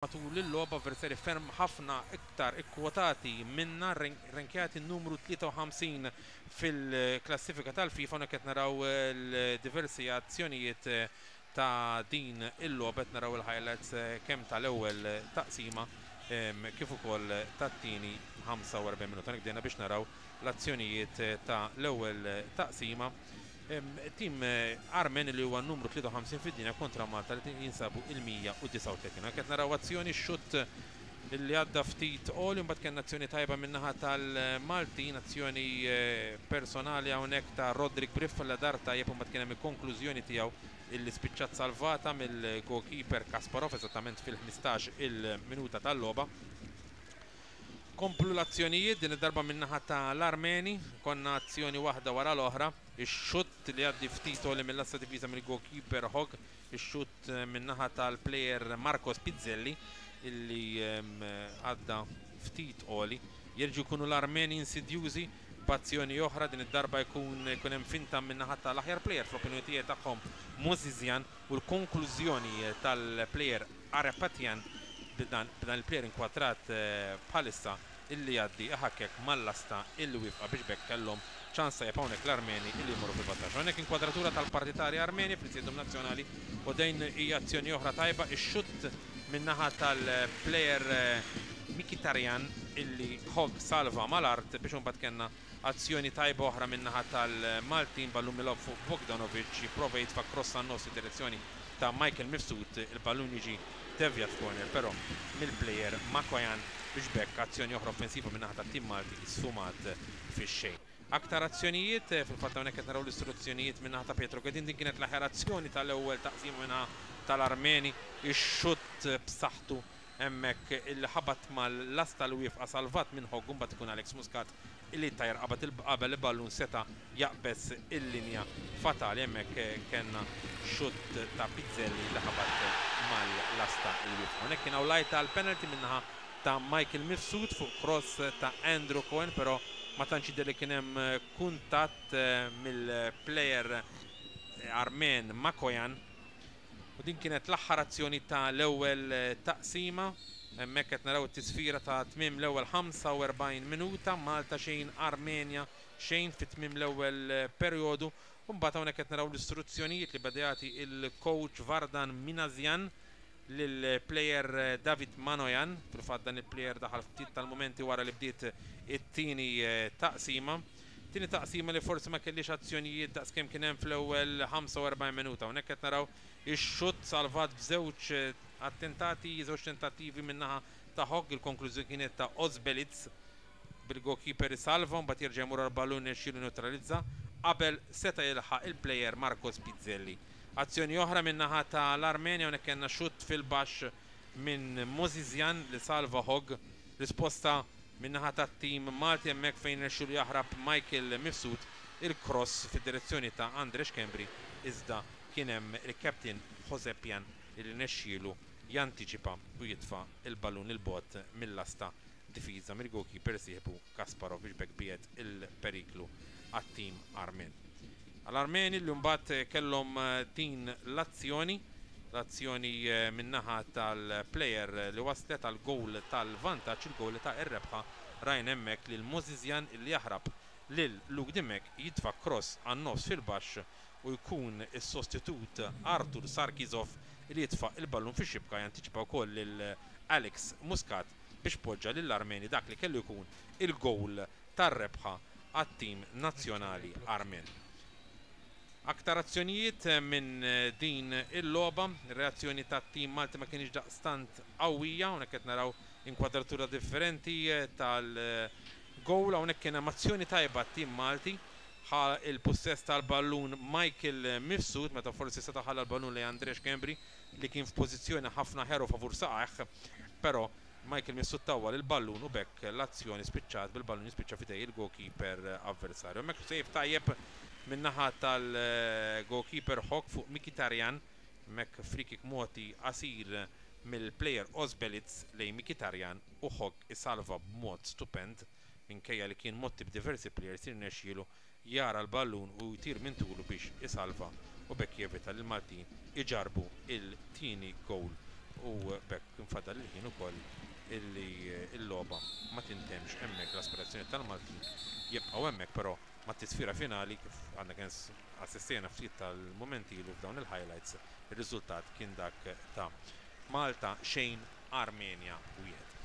Matul il-logħba, avversarji ferm ħafna iktar ikkwotati minna, renkjati numru 53 fil-klassifika tal-FIFA. Hawnhekk qed naraw l-diversi azzjonijiet ta' din il-logħba, qed naraw il-highlights kemm tal-ewwel taqsima kif ukoll tat-tieni 45 minuta. Hawnhekk bdejna biex naraw l-azzjonijiet ta' l-ewwel taqsima. Tim Armen li huwa numru 53 fid-dinja kontra Malta li jinsabu il-139. Anke qed naraw azzjoni, xutt li għadda ftit għoli, mbagħad kellna azzjoni tajba min-naħa tal-Maltin, azzjoni personali hawnhekk ta' Roderick Briff li dar tajjeb, mbagħad kien hemm il-konklużjoni tiegħu illi spiċċat salvata mill-goalkeeper Kasparov eżattament fil-15 il-minuta tal-logħba. Komplu l-azzjonijiet din id-darba min-naħa tal-Armeni, konna azzjoni waħda wara l-oħra, ix-xutt li għaddi ftit għoli mill-lasta difiża mill-goalkeeper Hogg, ix-xutt min-naħa tal-player Marcos Pizzelli illi għadda ftit għoli. Jerġgħu jkunu l-Armeni insidjużi b'azzjoni oħra, din id-darba jkun hemm finta min-naħa tal-aħjar player fl-opinjoni tiegħi tagħhom, Mozizjan, u l-konklużjoni tal-player Arapatian, b'dan il-player inkwadrat bħalissa, illi jgħaddi iħakkek mal-lasta illi wifqa biex bekk kellhom ċans tajjeb hawnhekk l-Armeni illi jmorru fil-vantaġġ. Hawnhekk inkwadratura tal-partitari Armeni fl-Istadium Nazzjonali u din hija azzjoni oħra tajba, ix-xutt min-naħa tal-player Mkhitaryan illi Hogg salva mal-art biex imbagħad kellna azzjoni tajba oħra min-naħa tal-Maltin, ballun milgħub fuq Bogdanovic, jipprova jitfa' cross għan-nofs id-direzzjoni ta' Michael Mifsud, il-ballun jiġi devjat f'corner però mill-player Makoyan biex bekk azzjoni oħra offensiva min-naħa tat-tim Malti sfumat fix-xejn. Aktar azzjonijiet, fil-fatt hawnhekk qed naraw l-istruzzjonijiet min-naħa ta' Pietro Ghedin, din kienet l-aħjar azzjoni tal-ewwel taqsima min-naħa tal-Armeni, ix-xutt b'saħħtu hemmhekk illi ħabat mal-lasta li wifqa salvat minn Hogg, mbagħad ikun Alex Muscat illi tajjar qabad qabel il-ballun seta' jaqbeż il-linja fatali. Hemmhekk kellna xutt ta' Pizzelli li ħabat mal-lasta li wifqa. Hawnhekk kien hawn lajta għal penalty min-naħa ta' Michael Mifsud fuq cross ta' Andrew Cohen, però ma tantx jidher li kien hemm kuntatt mill-player Armen Makoyan. U din kienet l-aħħar azzjoni ta' l-ewwel taqsima. Hemmhekk qed naraw it-tisfira ta' tmiem l-ewwel 45 minuta, Malta xejn, Armenja xejn fit tmiem l-ewwel perjodu. U mbagħad hawnhekk qed naraw l-istruzzjonijiet li beda jagħti il-coach Vardan Minasyan lill-player David Manoyan. Fil-fatt dan il-player daħal ftit tal-momenti wara li bdiet it-tieni taqsima. Tieni taqsima li forsi ma kellix azzjonijiet daqskemm kien hemm fl-ewwel 45 minuta. Hawnhekk qed naraw ix-xutt salvat b'żewġ attentati, żewġ tentattivi min-naħa ta' Hogg, il-konklużjoni kienet ta' Ozbelitz bil-goalkeeper isalva, mbagħad jerġa' jmur għall-ballun irnexxielu neutralizza qabel seta' jilħaq il-player Marcos Pizzelli. Azzjoni oħra min-naħa tal-Armenja, hawnhekk kellna xutt fil-baxx minn Mozizjan li salva Hogg. Risposta min-naħa tat-tim Malti hemmhekk fejn irnexxielu jaħrab Michael Mifsud, il-cross fid-direzzjoni ta' Andre Schembri, iżda kien hemm il-captain Josepjan li rnexxielu jantiċipa u jitfa' il-ballun il-bogħod mill-lasta difiża mill-goalkeeper sieħbu Kasparov biex bekk biegħed il-periklu għat-tim Armen. Għal-Armeni li mbagħad kellhom din l-azzjoni, l-azzjoni min-naħa tal-player li waslet għal goal tal-vantaġġ, il-goal ta' ir-rebħa, rajna hemmhekk lil Mozizjan li jaħrab lil Luke Dimech, jitfa' cross għan-nofs fil-baxx u jkun is-sostitut Artur Sarkizov li jitfa' il-ballun fix-xibka, jantiċipa wkoll lil Alex Muscat biex poġġa lill-Armeni dak li kellu jkun il-goal tar-rebħa għat-tim nazzjonali Armen. Aktar azzjonijiet minn din il-logħba, reazzjoni tat-tim Malti ma kienx daqstant qawwija, hawnhekk qed naraw inkwadratura differenti tal-goal, hawnhekk kien hemm azzjoni tajba t-tim Malti, ħa il-pussess tal-ballun Michael Mifsud meta forsi seta' ħalla l-ballun lejn Andre Schembri li kien f'pożizzjoni ħafna ħeru favur saqajh, però Michael Mifsud tawwal il-ballun u bekk l-azzjoni spiċċat bil-ballun jispiċċa f'idej il-goalkeeper avversarju. Hemmhekk save tajjeb min-naħa tal-goalkeeper Hogg fuq Mkhitaryan, hemmhekk free kick moti qasir mill-player Ozbelitz lejn Mkhitaryan u Hogg isalva b'mod stupend minkejja li kien motti b'diversi players, irnexxielu jara l-ballun u jtir minn tulu biex isalva u bekk jevita li l-Maltin iġarbu il-tieni goal. U b'hekk infadal il-ħin ukoll illi l-logħba ma tintemx hemmhekk. L-aspirazzjoni tal-Maltin jibqgħu hemmhekk, però mat-tisfira finali, kif għandna kien assistejna ftit tal-mumenti ilu f'dawn il-highlights, ir-riżultat kien dak ta' Malta 0, Armenja 1.